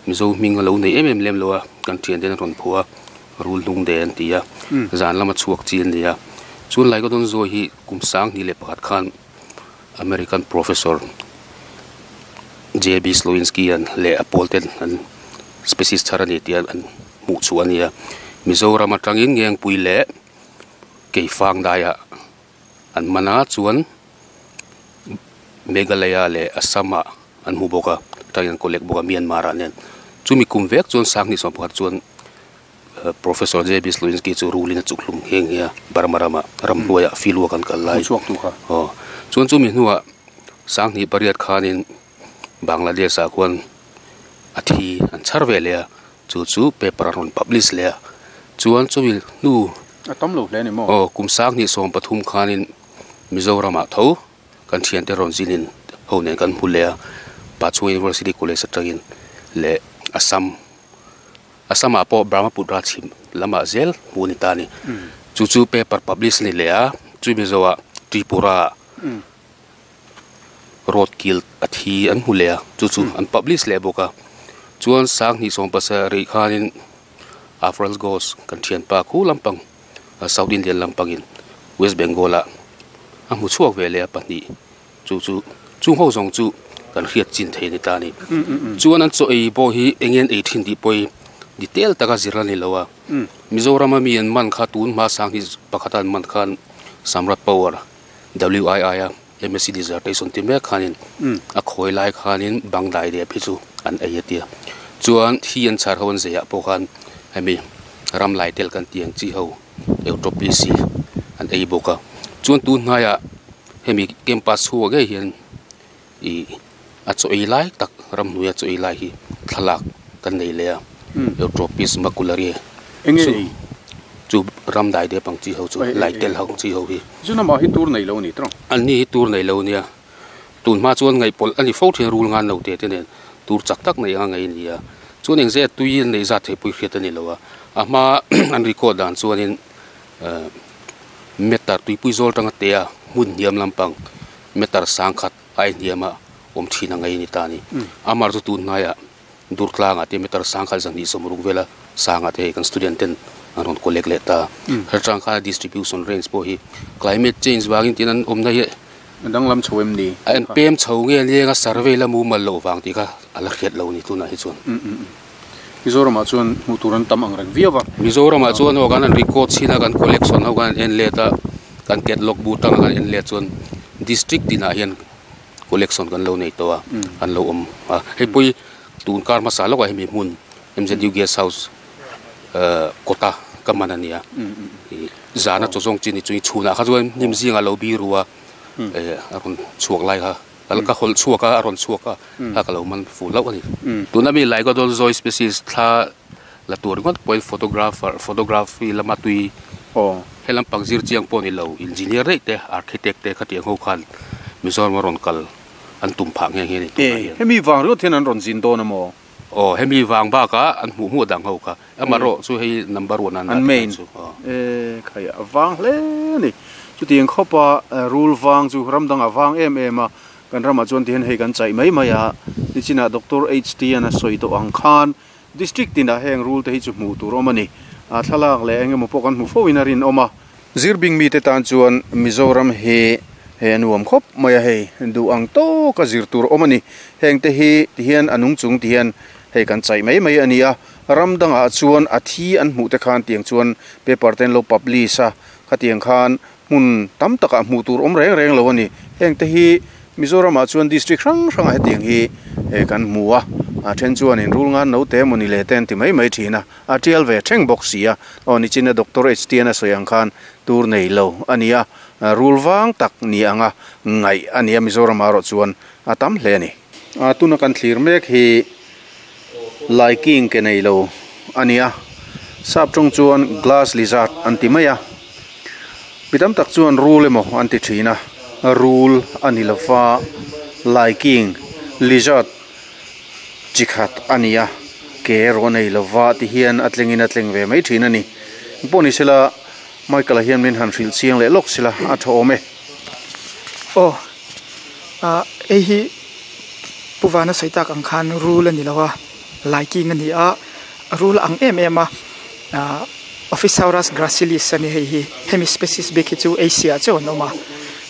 S8: Mizo hming a lo nei em em lem lo a, kan thian ten a rawn phuah a, rul hnung de an ti a, zan lama chhuak chi an ni a. Chuan lai ka dawn zawi hi kum 2001 khan American Professor JB Slowinski an leh a pawl ten an species thar a ni tih an hmuh chhuah a ni a. Mizoram atangin Ngengpui leh Keifang daiah An man a chuan Meghalaya leh Assam ah an hmu bawk a tah hian an collect bawk a Myanmar ah nen chumi kum vek chuan 2021 chuan Professor J B Slowinski chu rulin a chuk hlum nghe nghe a Burma rama ramhnuaiah field work an kal lai aw chuan chumi hnuah 2008 khanin Bangladesh ah khuan. A thi an chhar ve leh a, chu chu paper an rawn publish leh a, chuan chumi hnu
S1: A tam lo hle a ni maw?
S8: Aw, kum sanghnih 13 khanin Mizoramah tho kan thiante rawn zinin ho nen kan hmu leh a, Pachhunga University College atangin leh Assam Assam ah pawh Brahmaputra chhim lamah zel hmuh a ni ta a ni. Chu chu paper publish a ni leh a, chumi zawhah Tripura ah Road kil a thi an hmu leh a, chu chu an publish leh bawk a. Chuan 2017 khanin Afrans Ghosh kan thianpa khu lampang South Indian lampangin West Bengal ah a hmu chhuak ve leh a pahnih chu chu chung ho zawng chu kan hriat chin thei a ni ta a ni. Chuan an chaw ei pawh hi eng nge an ei thin tih pawh hi detail taka zir a ni lo a. Mizorama mi an man kha tun hma 2001 a an man khan Samrat Power WII a MSc dissertation ti mek khanin a khawi lai khanin bang dai dep hi chu an ei a tia. Chuan thi an chhar ho an zeiah pawh khan hemi ram lai tel kan tih ang chi ho Eutropis hi an ei bawk a. Chuan tun hnaiah hemi campus chhuak ngei hian ih a chaw ei lai tak ramhnuaia chaw ei lai hi thlalak kan nei leh a Eutropis maculariae
S1: Enge ei?
S8: Chu ram dai dep ang chi ho chu lai tel ho chi ho hi.
S1: Chu namah hi tur nei lo a ni tawng.
S8: An ni hi tur nei lo a nia. Tun hma chuan ngaihpawlh a ni fo thin rul ngan lo te te nen tur chak tak nei anga ngei a ni a. Chuan eng zet tui an neih zat theih pawh i hriat a ni lo a. A hma an record dan chuanin meter tuipui zawl tanga te a hmun hniam lampang meter sangkhat a inhniam a awm thin a ngei a ni ta a ni. Amar chu tun hnaiah Durtlangah te meter sangkhat 260 vela sangah te hei kan student ten an rawn collect leh ta. Hretang khan distribution range pawh hi climate change vangin tin an awmna hi
S1: A danglam chho em ni?
S8: A en pem chho nge lenga survey la mumal loh vang tih kha a la hriat lo a ni tunah hi chuan.
S1: Mizoramah chuan hmuh tur an tam ang reng viau a.
S8: Mizoramah chuan aw kan han record chhin a, kan collection ho kan han en let a, kan catalog bu tanga kan en let chuan district tinah hian collection kan lo nei tawh a, an lo awm a. Hei pawh hi tun kar hmasa lawkah hemi hmun MZU Guest House kawta ka man a nia. Zana chaw zawng chi ni chu chhunah kha chuan hnim zingah lo biru a, a rawn chhuak lai kha. Ka hawlh chhuak a, a rawn chhuak a, kha ka lo man fu hlauh a ni. Tuna mi Lycodon Zoe species thla la tur ringawt pawhin photographer, photography lama tui he lampang zir chiang pawh ni lo, engineer daih te, architect te khatiang ho khan Mizoram a rawn kal an tum phah nghe nghe a ni tunah hian.
S1: Hemi vang ringawt hian an rawn zin dawn a maw?
S8: Aw, hemi vang bakah an hmuh hmuh dang ho kha. Amaherawh chu hei number one an dah
S1: tih chu. E khai a vang hle a ni. Chutiang khawpa rul vang chu ram dangah vang em em a, kan ramah chuan tihian hei kan chaih mai mai a. Nichinah Doctor HT an a sawi tawh ang khan district tinah heng rul te hi chu hmuh tur awm a ni. A thlalak leh eng emaw pawh kan hmu fo in a rinawm a. Zirbing mite tan chuan Mizoram hi he a nuam khawp mai a, hei duh ang tawka zir tur awm a ni. Heng te hi tihian a nung chung tihian hei kan chaih mai mai a ni a. Ram dangah chuan a thi an hmuh te khan tiang chuan paper te an lo publish a, khatiang khan hmun tam takah hmuh tur awm reng reng lo a ni. Heng te hi Mizoramah chuan district hrang hrangah hetiang hi kan hmu a, a then chuanin rul ngan no te emaw ni le te an ti mai mai thin a, a tial ve thleng bawk si a. Aw nichina Doctor HTN a sawi ang khan tur nei lo a ni a, rul vang tak ni anga ngaih a ni a, Mizoramah erawh chuan a tam hle a ni. Tuna kan thlir mek hi Laiking ke nei lo a ni a, sap tawng chuan glass lizard an ti mai a, mi tam tak chuan rul emaw an ti thin a, rul a ni lo va, laiking lizard chi khat a ni a, ke erawh a nei lo va ti hian a tlengin a tleng ve mai thin a ni. Engpawh ni sela Michael-a hian min han hrilh chiang leh lawk sela a tha awm e.
S7: Aw, ah hei hi. Pu Vana sawi tak ang khan rul a ni lo a, laiking a ni a, rul ang em em a, ahh Ophisaurus gracilis a ni hei hi, hemi species bik hi chu Asia ah chauh an awm a,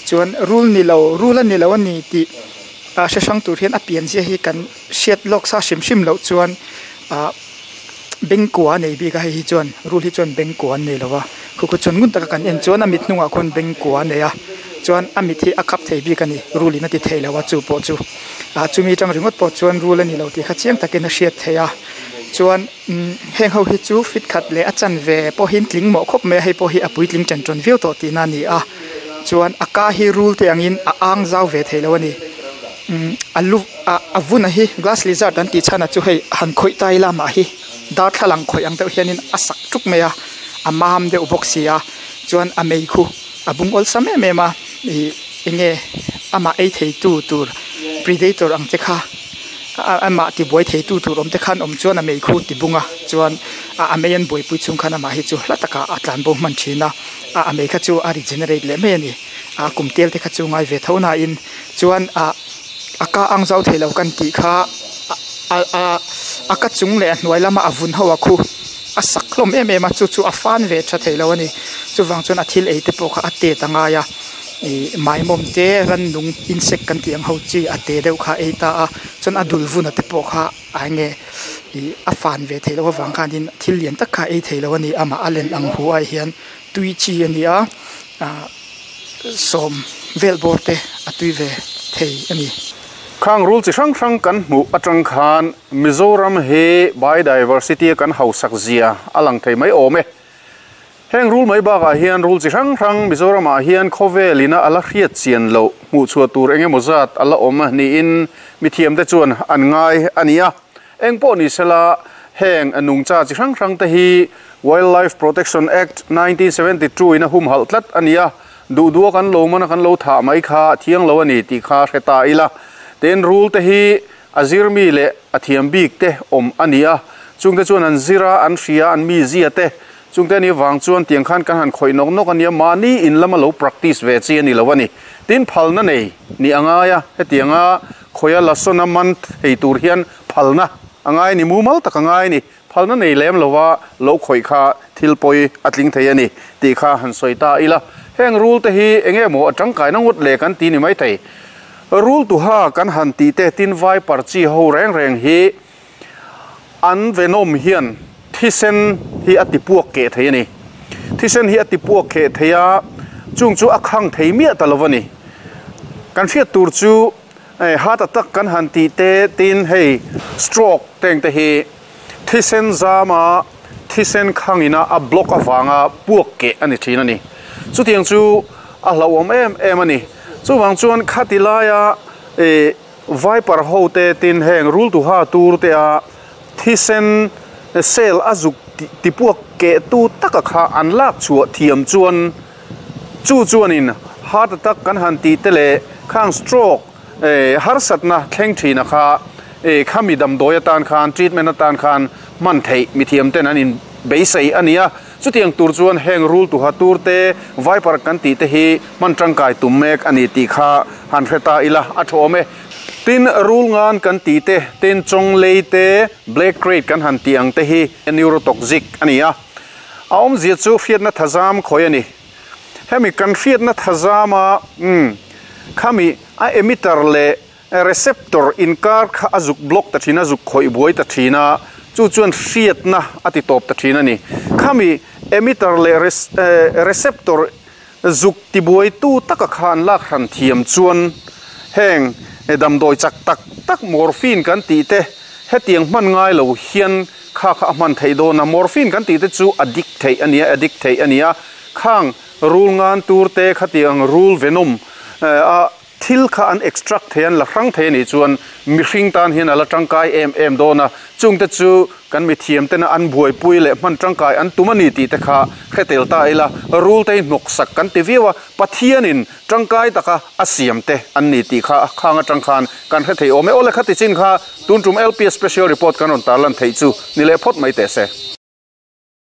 S7: chuan rul ni lo, rul a ni lo a ni tih ah hre hrang tur hian a pian zia hi kan hriat lawk sa hrim hrim loh chuan ahh bengkua a nei bik a hei hi chuan rul hi chuan bengkua an nei lo a, khu khu chuan ngun taka kan en chuan a mit hnungah khuan bengkua a nei a. Chuan a mit hi a khap thei bik a ni, rul in a ti thei lo a chu pawh chu ah chumi atang ringawt pawh chuan rul a ni lo tih kha chiang takin a hriat theih a. Chuan umm heng ho hi chu fit khat leh a chanve pawhin tling mawh khawp mai a, hei pawh hi a puitling ṭan ṭawn viau tawh tihna a ni a. Chuan a ka hi rul te angin a ang zau ve thei lo a ni. A lu ah a vun a hi glass lizard an tih chhan ah chu hei han khawih ta ila mah hi darthlalang khawih ang deuh hianin a sak tuk mai a a mam deuh bawk si a chuan a mei khu a bung awlsam em em a ih eng nge amah ei thei tu tur predator ang te kha amah tibuai thei tu tur awm te khan awm chuan a mei khu ti bung a chuan a mei an buaipui chhung khan amah hi chu hla takah a tlan bo hman thin a a mei kha chu a regenerate leh mai a ni a kum tel te kha chu ngai ve tho na in chuan ah a ka ang zau theilo kan tih kha a ka chung leh a hnuai lama a vun ho a khu a sak hlawm em em a chu chu a fan ve tha theilo a ni chuvang chuan a thil ei te pawh kha a tet a ngai a ih maimawm te rannung insect kan tih ang ho chi a te deuh kha a ei ta a chuan a dul vun a te pawh kha a enge ih a fan ve theih loh avang khanin thil lian tak kha a ei theilo a ni amah a len ang hu ah hian tui chi a ni a ah sawm vel bawr te a tui ve thei a ni.
S1: Khang rul chi hrang hrang kan hmuh atang khan Mizoram hi biodiversity a kan hausak zia a lang thei mai awm e. Heng rul mai bakah hian rul chi hrang hrang Mizoramah hian khawvel ina a la hriat chian loh hmuh chhuah tur eng emaw zat a la awm niin mithiamte chuan an ngai a ni a. Eng pawh ni sela heng nungcha chi hrang hrang te hi Wildlife Protection Act 1972 in a humhalh tlat a ni a, duh duh a kan lo man a kan lo thah mai kha thiang lo a ni tih kha hre ta ila. Tin, rul te hi a zirmi leh a thiam bik te awm a ni a, chungte chuan an zir a, an hria, an mizia te, chungte anih vang chuan tiang khan kan han khawih nawk nawk a nia, mahni in lama lo practice ve chi a ni lo a ni. Tin, phalna nei nih a ngai a, hetianga khawia lasawna man thei tur hian phalna a ngai a ni, mumal tak a ngai a ni. Phalna nei lem lova lo khawih kha thil pawi a tling thei a ni tih kha han sawi ta ila. Heng rul te hi eng nge maw a tangkaina ngawt le kan ti ni mai thei. Rul tuha kan han tih te tin vai parchi ho reng reng hi an venom hian thisen hi a ti puak keh thei a ni. Thisen hi a ti puak keh thei a, chung chu a khang thei miah ta lo a ni. Kan hriat tur chu heart attack kan han tih te tin hei stroke teng te hi Thisen zama thisen khangina a block avanga puak keh a ni thin a ni. Chutiang chu a hlauhawm em em a ni. Chuvang chuan khati laia ih viper ho te tin heng rul tuha tur te a thisen cell a zuk ti puak keh tu taka kha an lak chhuah thiam chuan chu chuanin heart attack kan han tih te leh khang stroke harsatna thleng thina kha Khami damdawi atan khan, treatment atan khan hman theih mithiam ten an in beisei a ni a. Chutiang tur chuan heng rul tuha tur te, viper kan tih te hi hman tangkai tum mek a ni tih kha han hre ta ila a tha awm e. Tin, rul ngan kan tih te, tin chawng lei te, black crate kan han tih ang te hi neurotoxic a ni a. A awmzia chu hriatna thazam khawi a ni. Hemi kan hriatna thazama, umm, khami a emitter leh Receptor inkar kha a zuk block ta thin a, zuk khawih buai ta thin a, chu chuan hriatna a ti tawp ta thin a ni. Khami emitter leh receptor zuk ti buaitu taka kha an lak hran thiam chuan heng damdawi chak tak tak morphine kan tih te hetiang hman ngai lo hian kha kha a hman theih dawn a. Morphine kan tih te chu addict theih a ni a, addict theih a ni a. Khang rul ngan tur te khatiang rul venom a Thil kha an extract thei, an la hrang thei a nih chuan mihring tan hian a la tangkai em em dawn a, chungte chu kan mithiam tena an buaipui leh hman tangkai an tum a ni tih te kha hre tel ta ila, rul te hi hnawksak kan ti viau a, Pathianin tangkai taka a siam te an ni tih kha khang atang khan kan hre thei awm e. Aw le khati chin kha tun tum LPS Special Report kan rawn tarlan theih chu ni leh phawt mai teh se.